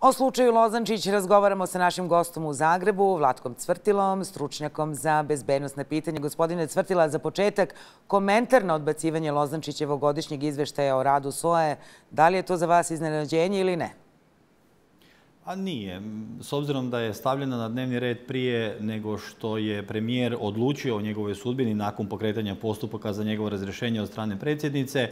O slučaju Lozančić razgovaramo sa našim gostom u Zagrebu, Vlatkom Cvrtilom, stručnjakom za bezbednosne pitanje. Gospodine Cvrtila, za početak, komentar na odbacivanje Lozančićevog godišnjeg izveštaja o radu SOA-e. Da li je to za vas iznenađenje ili ne? A nije. S obzirom da je stavljena na dnevni red prije nego što je premijer odlučio o njegovoj sudbini nakon pokretanja postupaka za njegovo razrješenje od strane predsjednice,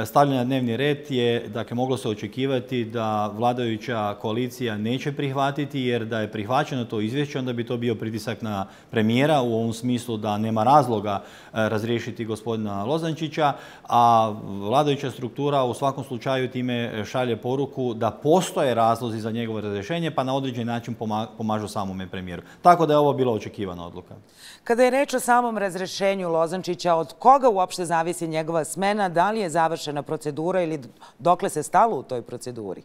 stavljena na dnevni red je, dakle, moglo se očekivati da vladajuća koalicija neće prihvatiti, jer da je prihvaćeno to izvješće, onda bi to bio pritisak na premijera u ovom smislu da nema razloga razriješiti gospodina Lozančića, a vladajuća struktura u svakom slučaju time šalje poruku da postoje razlozi za njegovo razrješenje, pa na određeni način pomažu samome premijeru. Tako da je ovo bila očekivana odluka. Kada je reč o samom razrješenju Lozančića, od koga uopšte zavisi njegova smena? Da li je završena procedura ili dokle se stalo u toj proceduri?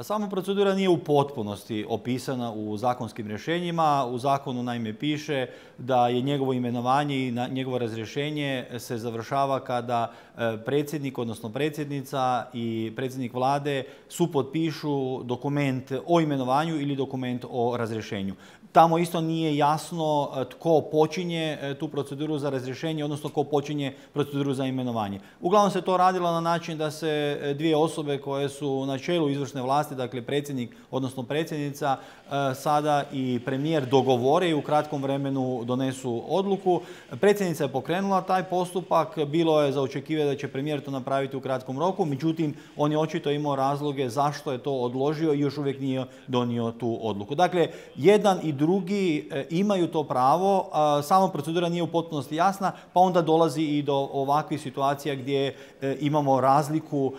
Sama procedura nije u potpunosti opisana u zakonskim rješenjima. U zakonu naime piše da je njegovo imenovanje i njegovo razrješenje se završava kada predsjednik, odnosno predsjednica i predsjednik vlade supotpišu dokument o imenovanju ili dokument o razrješenju. Tamo isto nije jasno tko počinje tu proceduru za razrješenje, odnosno tko počinje proceduru za imenovanje. Uglavnom se to radilo na način da se dvije osobe koje su na čelu izvršne vlasti, dakle predsjednik, odnosno predsjednica, sada i premijer dogovore i u kratkom vremenu donesu odluku. Predsjednica je pokrenula taj postupak, bilo je za očekivati da će premijer to napraviti u kratkom roku, međutim on je očito imao razloge zašto je to odložio i još uvijek nije donio tu odluku. Dakle, jedan i drugi imaju to pravo, sama procedura nije u potpunosti jasna, pa onda dolazi i do ovakvih situacija gdje imamo razliku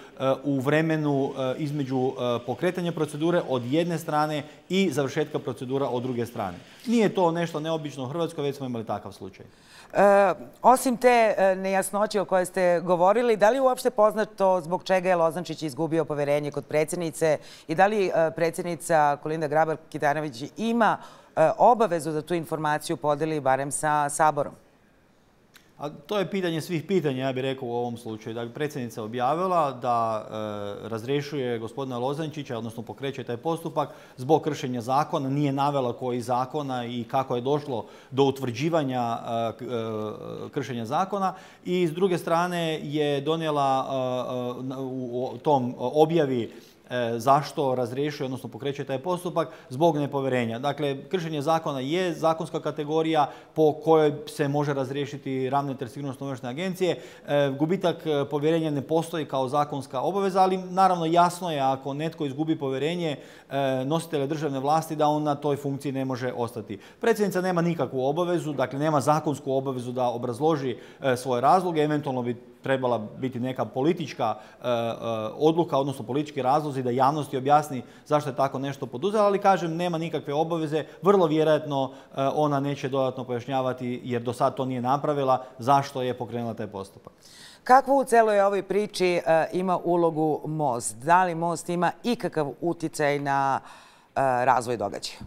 u vremenu između pokretanja procedure od jedne strane i završetka procedura od druge strane. Nije to nešto neobično u Hrvatskoj, već smo imali takav slučaj. Osim te nejasnoće o kojoj ste govorili, da li je uopšte poznato zbog čega je Lozančić izgubio poverenje kod predsjednice i da li predsjednica Kolinda Grabar-Kitarović ima obavezu da tu informaciju podeli barem sa Saborom? A to je pitanje svih pitanja, ja bih rekao u ovom slučaju. Dakle, predsjednica je objavila da razrješuje gospodina Lozančića, odnosno pokreće taj postupak zbog kršenja zakona. Nije navela koji zakona i kako je došlo do utvrđivanja kršenja zakona. I s druge strane je donijela u tom objavi zašto razrješuje, odnosno pokreće taj postupak zbog nepovjerenja. Dakle, kršenje zakona je zakonska kategorija po kojoj se može razriješiti ravnatelj Sigurnosno-obavještajne agencije. Gubitak povjerenja ne postoji kao zakonska obaveza, ali naravno jasno je ako netko izgubi povjerenje nositelja državne vlasti da on na toj funkciji ne može ostati. Predsjednica nema nikakvu obavezu, dakle nema zakonsku obavezu da obrazloži svoje razloge, eventualno bi trebala biti neka politička odluka, odnosno politički razlozi da javnosti objasni zašto je tako nešto poduzela, ali kažem, nema nikakve obaveze. Vrlo vjerojatno ona neće dodatno pojašnjavati, jer do sad to nije napravila, zašto je pokrenula taj postupak. Kakvu u celoj ovoj priči ima ulogu Most? Da li Most ima ikakav utjecaj na razvoj događaja?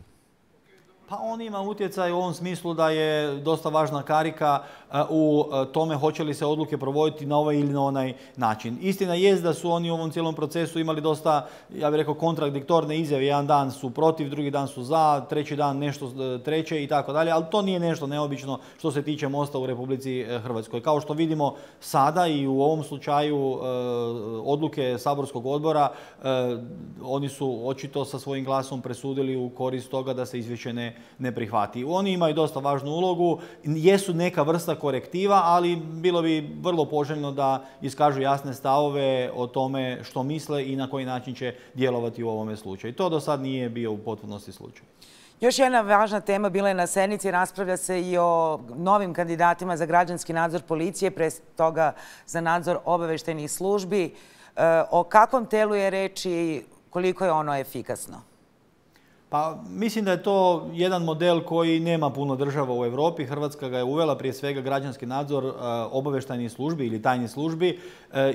Pa on ima utjecaj u ovom smislu da je dosta važna karika u tome hoće li se odluke provoditi na ovaj ili na onaj način. Istina jest da su oni u ovom cijelom procesu imali dosta, ja bih rekao, kontradiktorne izjave. Jedan dan su protiv, drugi dan su za, treći dan nešto treće i tako dalje, ali to nije nešto neobično što se tiče Mosta u Republici Hrvatskoj. Kao što vidimo sada i u ovom slučaju odluke saborskog odbora, oni su očito sa svojim glasom presudili u korist toga da se izvješće ne prihvati. Oni imaju dosta važnu ulogu, jesu neka vrsta korektiva, ali bilo bi vrlo poželjno da iskažu jasne stavove o tome što misle i na koji način će djelovati u ovome slučaju. To do sad nije bio u potpunosti slučaj. Još jedna važna tema bila je na sednici, raspravlja se i o novim kandidatima za građanski nadzor policije, pre toga za nadzor obavještajnih službi. O kakvom telu je reč i koliko je ono efikasno? Pa mislim da je to jedan model koji nema puno država u Europi. Hrvatska ga je uvela, prije svega građanski nadzor obavještajnih službi ili tajnih službi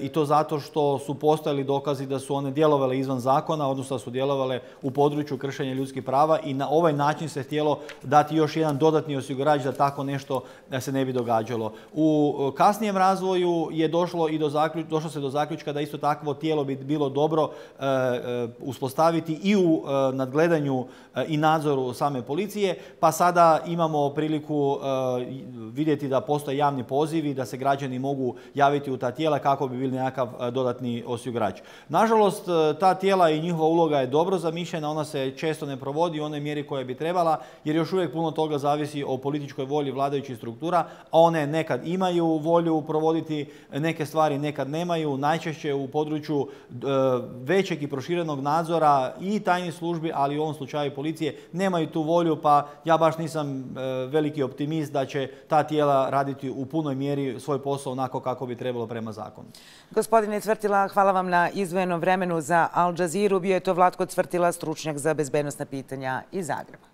i to zato što su postojali dokazi da su one djelovale izvan zakona, odnosno da su djelovale u području kršenja ljudskih prava i na ovaj način se htjelo dati još jedan dodatni osigurač da tako nešto se ne bi događalo. U kasnijem razvoju je došlo se do zaključka da isto takvo tijelo bi bilo dobro uspostaviti i u nadgledanju i nadzoru same policije, pa sada imamo priliku vidjeti da postoje javni pozivi, da se građani mogu javiti u ta tijela kako bi bili nekakav dodatni osigurač. Nažalost, ta tijela i njihova uloga je dobro zamišljena, ona se često ne provodi u onoj mjeri koja bi trebala, jer još uvijek puno toga zavisi o političkoj volji vladajućih struktura, a one nekad imaju volju provoditi neke stvari, nekad nemaju, najčešće u području većeg i proširenog nadzora i tajnih službi, ali u ovom slučaju policije nemaju tu volju, pa ja baš nisam veliki optimist da će ta tijela raditi u punoj mjeri svoj posao onako kako bi trebalo prema zakonu. Gospodine Cvrtila, hvala vam na izdvojenom vremenu za Al Jazeeru. Bio je to Vlatko Cvrtila, stručnjak za bezbednosna pitanja iz Zagreba.